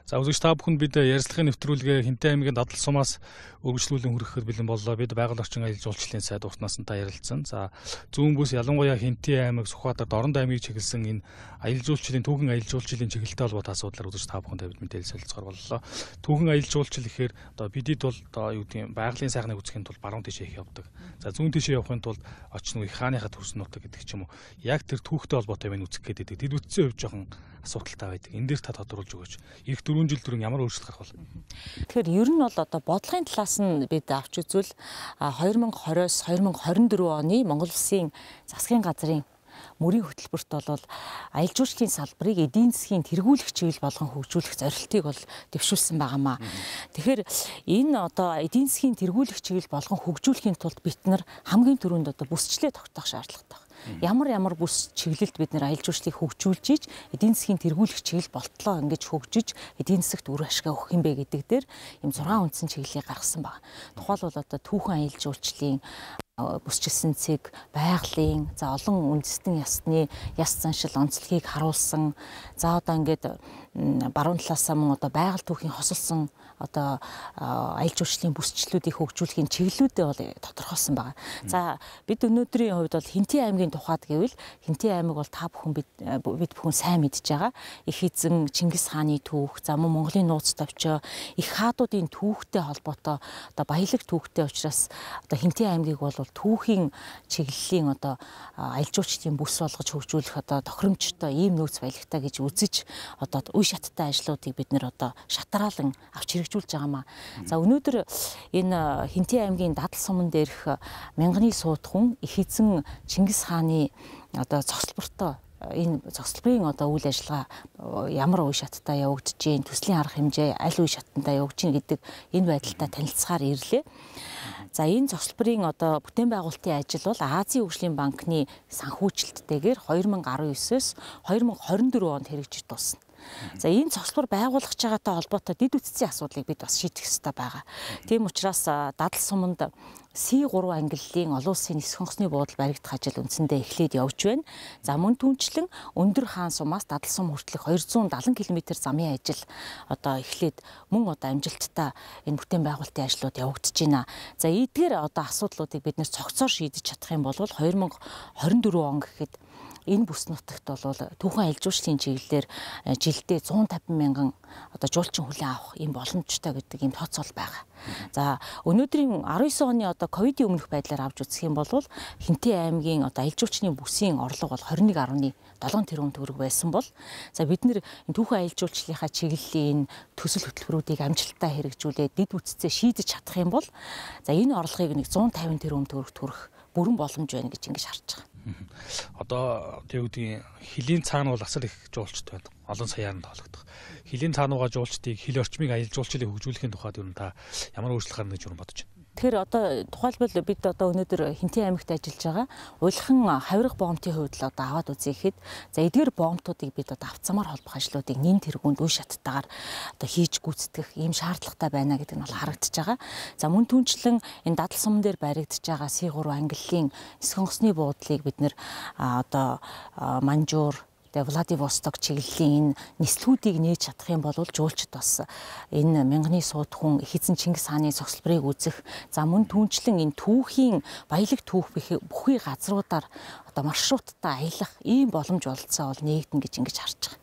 За үзэгч та бүхэнд бид ярилцлагын нэвтрүүлгээ Хинтээ аймгийн дадал сумаас үргэлжлүүлэн хүрэхэд бэлэн боллоо. Бид байгаль орчин аялал жуулчлалын сайд уртнаас нь та ярилцсан. За зүүн бүс ялангуяа Хинтээ аймаг, Сүхбаатар, Дорнод аймгийг чиглэсэн энэ аялал жуулчлалын түүхэн аялал жуулчлалын чиглэлтэй холбоотой асуудлаар үзэгч та бүхэнд бид мэдээлэл солилцохоор боллоо. Түүхэн аялал жуулчлал гэхээр одоо бидэд бол одоо юу гэдэг юм байгалийн сайхныг үзэхийн тулд баруун тишээ их явдаг. За зүүн тишээ явахын тулд очно их хааныхаа төрсөн нутаг гэдэг ч юм уу. Яг тэр түүхтэй холбоотой байна үзэх гэдэг. Тэд үтсэн хувь жоохон асуудалтай байдаг. Энэ дээр та тодруулж өгөөч. Ирэх 4 жил түрүүн ямар өөрчлөлт гарах вэ? Тэгэхээр ер нь бол одоо бодлогын талаас нь бид авч үзвэл 2020-с 2024 оны Монгол Улсын засгийн газрын мөрийн хөтөлбөрт бол аялал жуулчлалын салбарыг эдийн засгийн тэргүүлэх чиглэл болгон хөгжүүлэх зорилтыг бол дэвшүүлсэн байнамаа. Тэгэхээр энэ одоо эдийн засгийн тэргүүлэх чиглэл болгон хөгжүүлэхийн тулд бид нар хамгийн түрүүнд одоо бүсчлээ тогтоох шаардлагатай. Ямар бүс чиглэлд бид нэр аялал жуулчлалыг хөгжүүлж иж эдийн засгийн тэргүүлэх чиглэл болтлоо ингэж хөгжиж эдийн засагт үр ашиг өгөх юм бэ гэдэг дээр ийм 6 үндсэн чиглэлийг гаргасан байна. Тухайлбал одоо түүхэн аялал жуулчлалын бүсчилсэн цэг, байгалийн, за олон үндэстэн ясны яс заншил онцлогийг харуулсан. За одоо ингээд баруун талаасаа мөн одоо байгаль түүхийн хосолсон одоо аялал жуулчлалын бүсчлүүдийг хөгжүүлэхийн чиглэлүүдээ бол тодорхойлсон байна. За бид өнөөдрийн хувьд бол Хинтээ аймгийн тухайд гэвэл Хинтээ аймаг бол та бүхэн бид бүхэн сайн мэдж байгаа. Их эзэн Чингис хааны түүх, за мөн Монголын нууц товчоо их хаадуудын түүхтэй холбоотой одоо баялаг түүхтэй учраас одоо Хинтээ аймгийг бол түүхийн чиглэлийн одоо аялал жуулчлалын бүс болгож хөгжүүлэх одоо тохиромжтой ийм нөөц баялагтай гэж үзэж одоо үе шаттай ажлуудыг бид нэр одоо шатраалan авч хэрэгжүүлж байгаамаа. За өнөөдөр энэ Хинтээ аймгийн дадал суман дээрх мянганы суудхан их эзэн Чингис хааны одоо цогцлбортой энэ цогцлборын одоо үйл ажиллагаа ямар үе шаттай явагдаж гин, төслийн арга хэмжээ аль үе шаттай явагдаж гин гэдэг энэ байдалтай танилцахаар ирлээ. За энэ цогцлборын одоо бүтээн байгуулалтын ажил бол Азийн хөгжлийн банкны санхүүжилттэйгээр 2019-с 2024 онд хэрэгжиж дуусна. За энэ цогцлбор байгуулах байгаатай холбоотой дэд үтцийн асуудлыг бид бас шийдэх ёстой байгаа. Тийм учраас дадал суманд C3 ангиллалын олон улсын нисэх онгоцны буудал баригдах ажил үндсэндээ эхлээд явж байна. За мөн түнчлэн Өндөр хаан сумаас дадал сум хүртэлх 270 км замын ажил одоо эхлээд мөн одоо амжилттай энэ бүтээн байгуулалтын ажлууд явагдаж байна. За эдгээр одоо асуудлуудыг бид нэр цогцоор шийдэж чадах юм бол 2024 он гэхэд энэ бүс нутагт бол түүхэн аялал жуулчлалын чиглэлээр жилдээ 150 мянган одоо жуулчин хүлээн авах ийм боломжтой гэдэг ийм тооцоол байгаа. За өнөөдрийн 19 оны одоо ковидын өмнөх байдлаар авч үзэх юм бол Хинтээ аймгийн одоо аялал жуулчлалын бүсийн орлого бол 21.7 тэрбум төгрөг байсан бол за бид нэр түүхэн аялал жуулчлалынхаа чиглэлийн төсөл хөтөлбөрүүдийг амжилттай хэрэгжүүлээд дэд үтцээ шийдэж чадах юм бол за энэ орлогыг нэг 150 тэрбум төгрөг төрөх бүрэн боломж байна гэж ингэж харж байгаа. Одоо тэг үгдгийн хилийн цаана бол асар их жуулчд байна. Олон саяар нь тоологдох. Хилийн цаанууга жуулчдыг хил орчмыг аялал жуулчлалыг хөгжүүлэхийн тухайд юу та ямар өөрчлөлт гарна гэж бодож байна? Тэгэхээр одоо тухайлбал бид одоо өнөөдөр Хинтээ аймагт ажиллаж байгаа уйлхан хавирга боомтын хувьд л одоо аваад үзьехэд за эдгээр боомтуудыг бид одоо авцамаар холбох ажлуудыг нэн тэргуунд үе шаттайгаар одоо хийж гүйцэтгэх ийм шаардлагатай байна гэдэг нь бол харагдаж байгаа. За мөн түнчлэн энэ дадал суман дээр баригдаж байгаа C3 ангиллалын нисэх онгоцны буудлыг бид нэр одоо Манжуур Владивосток чиглэлийн энэ нислүүдийг нээж чадах юм бол жуулчд бас энэ мянганы суудхан их эзэн Чингис хааны цогцлборыг үзэх за мөн түнчлэн энэ түүхийн баялаг түүх бүхий газруудаар одоо маршруттай аялах ийм боломж олцоо бол нээгдэн гэж ингэж харж байгаа.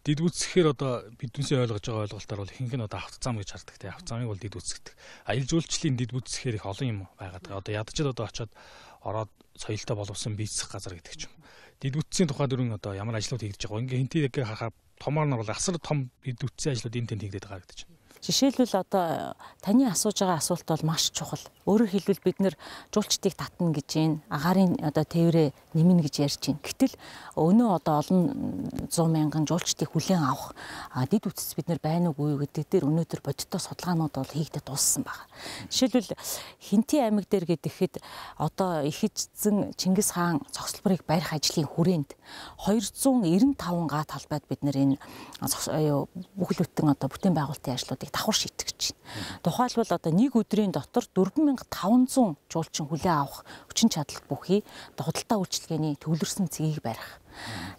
Дид үсгэхээр одоо биднээсээ ойлгож байгаа ойлголтоор бол ихэнх нь одоо автозам гэж хардаг те автозамыг бол дид үсгдэг. Аялал жуулчлалын дид үсгэхээр их олон юм байгаад байгаа. Одоо ядчид одоо очиод ороод соёлтой боловсон бийцэх газар гэдэг ч юм. Дид үтцийн тухай дөрвөн одоо ямар ажлууд хийгдэж байгаа. Ингээ Хинтээ харахаар томоор нь бол асар том дид үтцийн ажлууд энэ тэнд хийгдэж байгаа гэж байна. Жишээлбэл одоо таны асууж байгаа асуулт бол маш чухал. Өөрөөр хэлбэл бид нэр жуулчдыг татна гэж байна. Агаарын одоо тээврээ нэмнэ гэж ярьж байна. Гэтэл өнөө одоо олон 100 мянган жуулчдыг хүлээн авах дид үтц бид нар байна уугүй юу гэдэг дээр өнөөдөр бодиттой судалгаанууд бол хийгдэж дууссан байна. Жишээлбэл Хинтээ аймаг дээр гэдэгэхэд одоо их эзэн Чингис хаан цогцлборыг барих ажлын хүрээнд 295 га талбайд бид нэр энэ бүхэл бүтэн одоо бүтээн байгуулалтын ажлуудыг давхар шийтгэж байна. Тухайлбал одоо нэг өдрийн дотор 4500 жуулчин хүлээн авах хүчин чадал бүхий худалдаа үйлчилгээний төвлөрсөн цэгийг барих.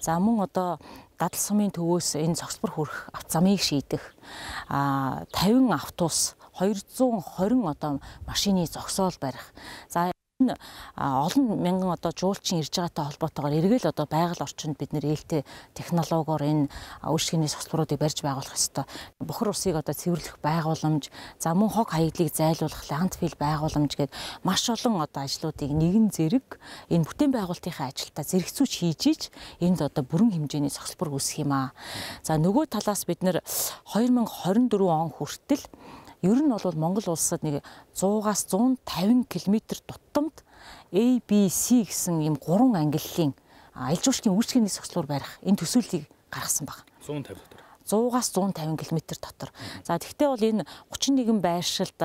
За мөн одоо дадал сумын төвөөс энэ цогцбор хүрэх авто замыг шийдэх 50 автобус 220 одоо машины зогсоол барих. За энэ олон мянган одоо жуулчин ирж байгаатай холбоотойгоор эргээл одоо байгаль орчинд бид нэр ээлтэй технологиор энэ үйлчлэгээний цогцборуудыг барьж байгуулах ёстой. Бохор усыг одоо цэвэрлэх байгууламж, за мөн хог хаягдлыг зайлуулах ландфил байгууламж гээд маш олон одоо ажлуудыг нэгэн зэрэг энэ бүтээн байгуулалтынхаа ажилдаа зэрэгцүүж хийж иж энд одоо бүрэн хэмжээний цогцбор үүсэх юм аа. За нөгөө талаас бид нэр 2024 он хүртэл ер нь бол Монгол улсад нэг 100-аас 150 км тутамд ABC гэсэн ийм 3 ангиллалын аялал жуулчлалын үйлчлэгээний цогцлуур барих энэ төсөөллийг гаргасан баг. 150 дотор. 100-аас 150 км дотор. За тэгвэл бол энэ 31 байршилд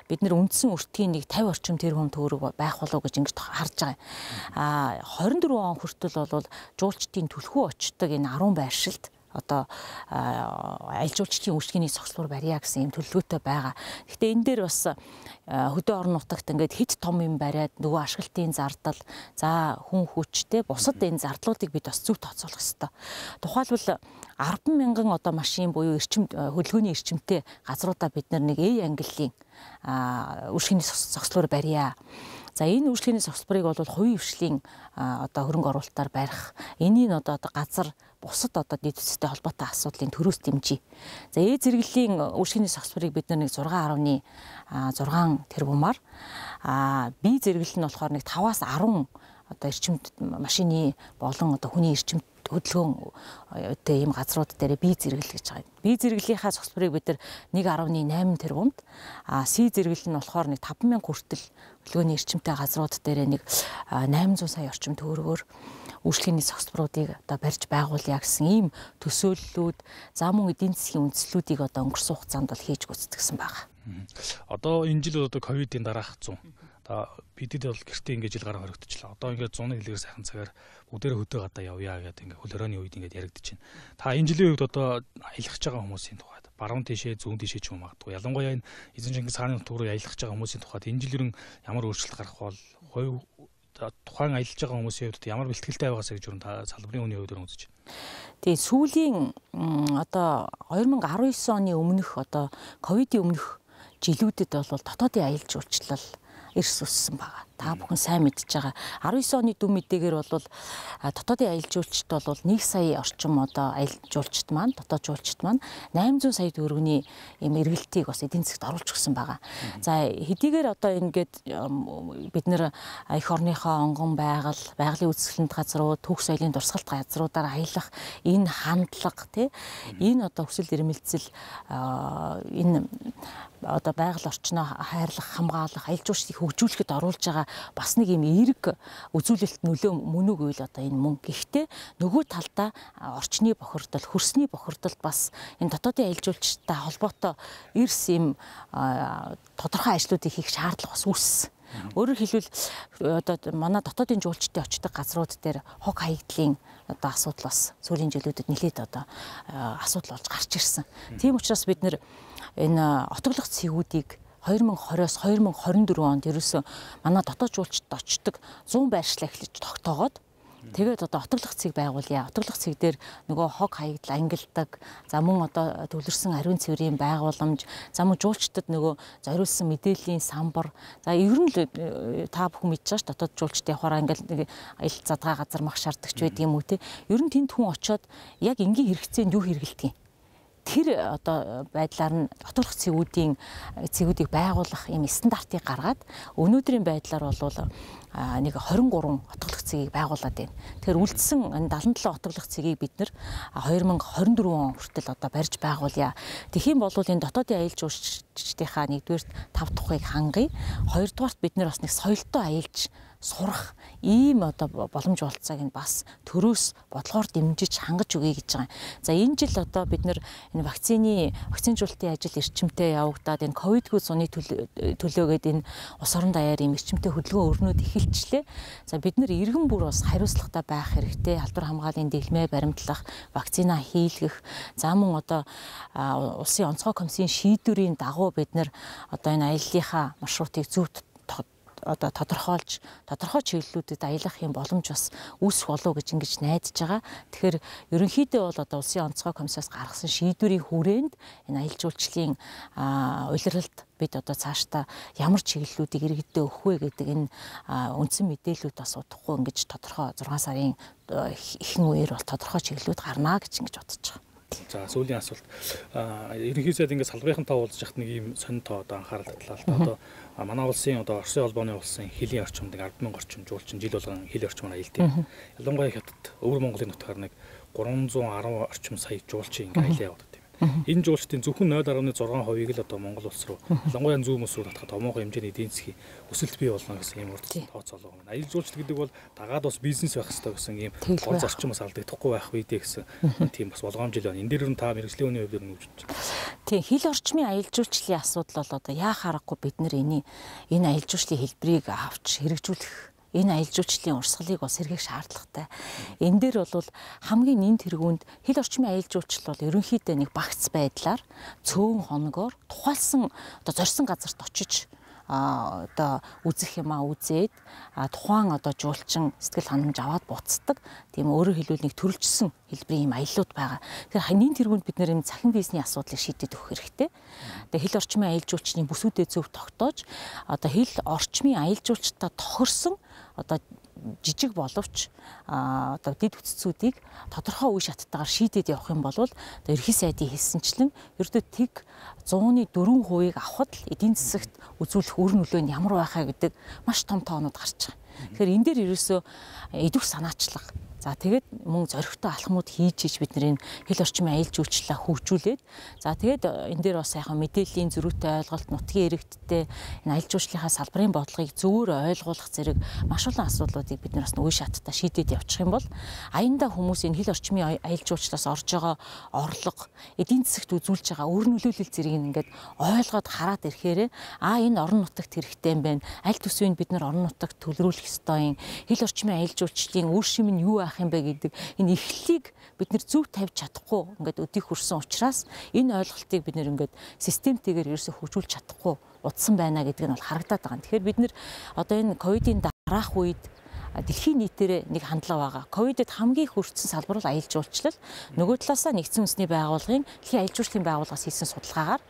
бид нэр үндсэн өртгийн нэг 50 орчим тэрбум төгрөг байх болов гэж ингэж харж байгаа. 24 он хүртэл бол жуулчдын түлхүү очдог энэ 10 байршилд одоо аялал жуулчлалын үйлчлэгээний цогцлуур барья гэсэн юм төлөвлөгөөтэй байгаа. Гэхдээ энэ дээр бас хөдөө орон нутагт ингээд хит том юм бариад нөгөө ашиглалтын зардал, за хүн хүчтэй бусад энэ зардлуудыг бид бас зөв тооцоолох ёстой. Тухайлбал 10 мянган одоо машин буюу хөдөлгөөний эрчимтэй газруудаа бид нэг A ангиллалын үйлчлэгээний цогцлуур барья. За энэ үйлчлэгээний цогцлборыг бол хувийн хвшлийн одоо хөрөнгө оруулалтаар барих. Энийг одоо газар бусад одоо нийт төстэй холбоотой асуудлын төрөөс дэмжиж. За зэрэглэлийн үйлчлэгээний цогцлборыг бид нэг 6.6 тэрбумаар B зэрэглэл нь болохоор нэг 5-аас 10 одоо эрчимт машины болон одоо хүний эрчимт хөдөлгөөнтэй ийм газрууд дээр B зэрэглэл гэж байгаа. B зэрэглэлийнхаа цогцлборыг бид нар 1.8 тэрбумд, C зэрэглэл нь болохоор нэг 5,000 хүртэл хөдөлгөөний эрчимтэй газрууд дээр нэг 800 сая орчим төгрөгөөр үйлчлэгээний цогцлборуудыг одоо барьж байгуулъя гэсэн ийм төсөөллүүд, за мөн эдийн засгийн үндслүүдийг одоо өнгөрсөн хугацаанд бол хийж гүйцэтгэсэн байгаа. Одоо энэ жил одоо ковидын дараах 100. Бидэд бол гэртээ ингээд жил гараа хоригдчихлаа. Одоо ингээд 100-ны хэлээр сайхан цагаар бүгдээрээ хөдөө гадаа явъя гэдэг ингээд хөл хорионы үед ингээд яригдчихэв. Та энэ жилийн үед одоо аялах байгаа хүмүүсийн тухайд баруун тишээ, зүүн тишээ ч юм магадгүй. Ялангуяа энэ эзэн Чингис хааны нутг руу аялах байгаа хүмүүсийн тухайд энэ жил ямар өөрчлөлт гарах бол хувь тухайн аялж байгаа хүмүүсийн хувьд ямар бэлтгэлтэй байгаас гэж та салбарын үний хувьд үзэж байна. Тэгээ сүүлийн одоо 2019 оны өмнөх одоо ковидын өмнөх жилүүдэд бол дотоодын аялал жуулчлал эрс өссөн байгаа. Та бүхэн сайн мэдж байгаа. 19 оны дүн мэдээгээр бол дотоодын аялал жуулчид бол 1 сая орчим одоо аялал жуулчид маань, дотоод жуулчид маань 800 сая төгрөгийн юм эргэлтийг бас эдийн засгт оруулж өгсөн байгаа. За хэдийгээр одоо ингээд бид нэр эх орныхоо онгон байгалийн үзэсгэлэнт газрууд, түүх соёлын дурсгалт газруудаар аялах энэ хандлага тий энэ одоо хүсэл эрмэлзэл энэ одоо байгаль орчноо хайрлах, хамгаалах, аялал жуулчлалыг хөгжүүлэхэд оруулж байгаа бас нэг юм эерэг үзүүлэлт нөлөө мөн үгүй л одоо энэ мөн. Гэхдээ нөгөө талдаа орчны бохирдол, хөрсний бохирдол бас энэ дотоодын аялал жуулчтай холбоотой эрс юм тодорхой ажлуудыг хийх шаардлага бас үүссэн. Өөрөөр хэлбэл одоо манай дотоодын жуулчдын очдог газрууд дээр хог хаягдлын одоо асуудал бас сүүлийн жилүүдэд нэлээд одоо асуудал болж гарч ирсэн. Тийм учраас бид нэр энэ отоглох цэгүүдийг 2020-оос 2024 онд ерөөсөө манай дотоод жуулчдад очдог 100 байршлаа эхлэж тогтоогоод тэгээд одоо отоглох цэг байгуулъя. Отоглох цэг дээр нөгөө хог хаягдал ангилдаг, за мөн одоо төвлөрсөн ариун цэврийн байгууламж, за мөн жуулчдад нөгөө зориулсан мэдээллийн самбар. За ер нь та бүхэн мэдж байгаа ш дотоод жуулчдын явахаараа ингээл нэг аялал задгаа газар мах шаарддаг ч байдаг юм уу те. Ер нь тэнд хүн очиод яг энгийн хэрэгцээнд юу хэрэгэлдэг юм. Тэр одоо байдлаар нь отоглох цэгүүдийг байгуулах юм стандартыг гаргаад өнөөдрийн байдлаар бол нэг 23 отоглох цэгийг байгуулад байна. Тэгэхээр үлдсэн энэ 77 отоглох цэгийг бид нэр 2024 он хүртэл одоо барьж байгуулъя. Тэгэх юм бол энэ дотоодын аялал жуулчдынхаа нэгдүгээрт 5 тухайг хангая. Хоёрдугаарт бид нэр бас нэг соёлтой аялж сурах ийм одоо боломж болцоог нь бас төрөөс бодлогоор дэмжиж хангаж өгье гэж байгаа. За энэ жил одоо бид нэр энэ вакцинжуулалтын ажил эрчимтэй явагдаад энэ ковидгүй зуны төлөөгээд энэ ус орон даяар ийм эрчимтэй хөдөлгөөн өрнөд эхэлчлээ. За бид нэр иргэн бүр бас хариуцлагатай байх хэрэгтэй. Халдвар хамгааллын дэглэмээ баримтлах, вакцина хийлгэх, за мөн одоо улсын онцгой комиссийн шийдвэрийн дагуу бид нэр одоо энэ аяллахаа маршрутыг зөв одоо тодорхой чиглэлүүдэд аялах юм боломж бас үүсэх болов гэж ингэж найдаж байгаа. Тэгэхээр ерөнхийдөө бол одоо Улсын онцгой комиссаас гаргасан шийдвэрийн хүрээнд энэ аялал жуулчлалын улиралд бид одоо цаашдаа ямар чиглэлүүдийг иргэдэд өгөх вэ гэдэг энэ үндсэн мэдээлүүд бас удахгүй ингэж тодорхой 6 сарын ихэнх үеэр бол тодорхой чиглэлүүд гарнаа гэж ингэж бодож байгаа. За сүүлийн асуулт ерөнхий сайд ингээд салбарын тоо уулзж яхад нэг ийм сонин тоо одоо анхаарал татлаа л да. Одоо манай улсын одоо Оросын холбооны улсын хилийн орчимд 10,000 орчим жуулчин жил болгон хилийн орчмоор аялдаг. Ялангуяа хятад өвөр Монголын нутгаар нэг 310 орчим сая жуулчин ингээд аялаа явуулдаг. Энэ жуулчдын зөвхөн 0.6%-ийг л одоо Монгол улс руу ялангуяа зүүн мөс рүү татахад томоохон хэмжээний эдийн засгийн өсөлт бий болно гэсэн ийм урд тооцоолоо байна. Аялал жуулчлал гэдэг бол дагаад бас бизнес байх хэрэгтэй гэсэн ийм гол зарчим бас алдагдахгүй байх үедээ гэсэн тийм бас болгоомжил байна. Энэ дээр нь та мэргэжлийн хүний хувьд юу гэж бодож байна? Тийм, хил орчмын аялал жуулчлалын асуудал бол одоо яа харахгүй бид нар энэ аялал жуулчлалын хэлбэрийг авч хэрэгжүүлэх энэ аялал жуулчлалын урсгалыг бас сэргээх шаардлагатай. Энэ дээр бол хамгийн нэн тэргуунд хил орчмын аялал жуулчлал бол ерөнхийдөө нэг багц байдлаар цөөн хоногоор тухайлсан одоо зорьсон газарт очиж одоо үзэх юмаа үзээд тухайн одоо жуулчин сэтгэл ханамж аваад буцдаг. Тийм өөрөөр хэлбэл нэг төрөлжсөн хэлбэрийн юм аяллууд байгаа. Тэгэхээр ханийн тэргуунд бид нэр юм цахим бизнесийн асуудлыг шийдэж өгөх хэрэгтэй. Тэгээ хил орчмын аялал жуулчдын бүсүүдэд зөв тогтоож одоо хил орчмын аялал жуулчдаа тохирсон одоо жижиг боловч одоо дэд үтцүүдийг тодорхой үе шаттайгаар шийдээд явах юм бол одоо ерхий сайдын хэлсэнчлэн ердөө тэг 104%-ийг авахд л эдийн засагт үзүүлэх үр нөлөө нь ямар байхаа гэдэг маш том тоонууд гарч байгаа. Тэгэхээр энэ дээр ерөөсөө идэвх санаачлах. За тэгээд мөн зоригтой алхмууд хийж бид нэр хил орчмын аялал жуулчлалаа хөгжүүлээд за тэгээд энэ дээр бас яхаа мэдээллийн зөрүүтэй ойлголт нутгийн иргэдтэй энэ аялал жуулчлалынхаа салбарын бодлогыг зөвөр ойлгуулах зэрэг маш олон асуудлуудыг бид нар бас үе шаттай шийдээд явчих юм бол аяндаа хүмүүс энэ хил орчмын аялал жуулчлалаас орж байгаа орлого эдийн засагт үзүүлж байгаа үр нөлөөлөл зэргийг ингээд ойлгоод хараад ирэхээр энэ орон нутагт хэрэгтэй юм байна. Аль төсвийг бид нар орон нутагт төлрүүлэх ёстой юм. Хил орчмын аялал жуулчлалын үр шим нь юу юм бэ гэдэг энэ эхлэлийг бид нэр зөв тавьж чадахгүй ингээд өдийг хүрсэн учраас энэ ойлголтыг бид нэр ингээд системтэйгээр ерөөсө хөгжүүлж чадахгүй утсан байна гэдэг нь бол харагдаад байгаа. Тэгэхээр бид нэр одоо энэ ковидын дараах үед дэлхийн нийтээр нэг хандлага байгаа. Ковидд хамгийн хүрсэн салбар бол аялал жуулчлал. Нөгөө талаасаа нэгдсэн үндэсний байгууллагын дэлхийн аялал жуулчлалын байгууллагаас хийсэн судалгаагаар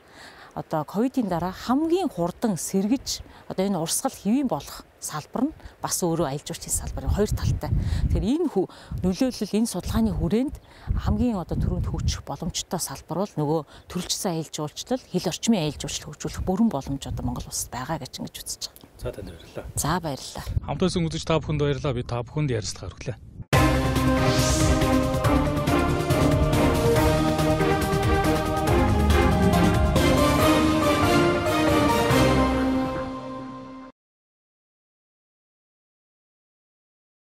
одоо ковидын дараа хамгийн хурдан сэргэж одоо энэ урсгал хэвийн болох салбар нь бас өөрөө аялал жуулчлалын салбарын хоёр талтай. Тэгэхээр энэ нөлөөлөл энэ судалгааны хүрээнд хамгийн одоо түрүүнд хөгжих боломжтой салбар бол нөгөө төрөлжсөн аялал жуулчлал, хил орчмын аялал жуулчлал хөгжүүлэх бүрэн боломж одоо Монгол улсад байгаа гэж ингэж үзэж байгаа. За танд баярлалаа. За баярлалаа. Хамтдаа үзэж та бүхэнд баярлалаа. Би та бүхэнд ярилцлага өргөлээ.